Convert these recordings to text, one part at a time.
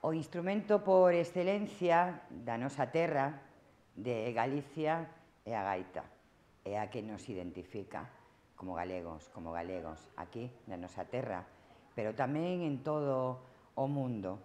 O instrumento por excelencia da nosa terra, de Galicia, é a gaita. É a que nos identifica como galegos, aquí na nosa terra, pero tamén en todo o mundo.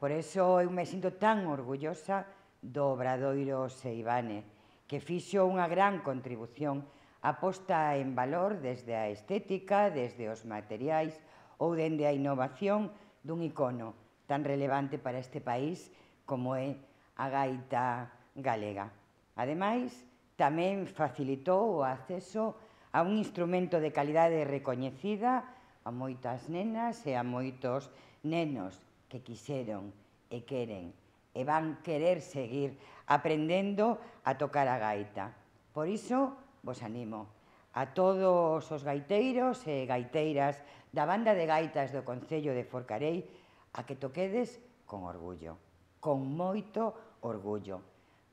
Por iso eu me sinto tan orgullosa do Obradoiro Seivane, que fixo unha gran contribución a posta en valor desde a estética, desde os materiais ou dende a innovación dun icono tan relevante para este país como é a gaita galega. Ademais, tamén facilitou o acceso a un instrumento de calidade recoñecida a moitas nenas e a moitos nenos que quixeron e queren e van querer seguir aprendendo a tocar a gaita. Por iso, vos animo a todos os gaiteiros e gaiteiras da banda de gaitas do Concello de Forcarei a que toquedes con orgullo, con moito orgullo.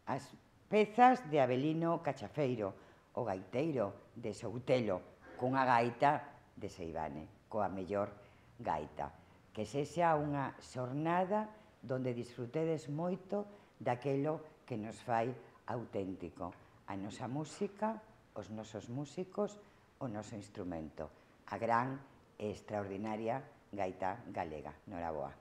As pezas de Avelino Cachafeiro, o gaiteiro de Soutelo, cunha gaita de Seivane, coa mellor gaita. Que sexa unha xornada donde disfrutedes moito daquelo que nos fai auténtico. A nosa música, os nosos músicos, o noso instrumento. A gran e extraordinaria gaita galega. Noraboa.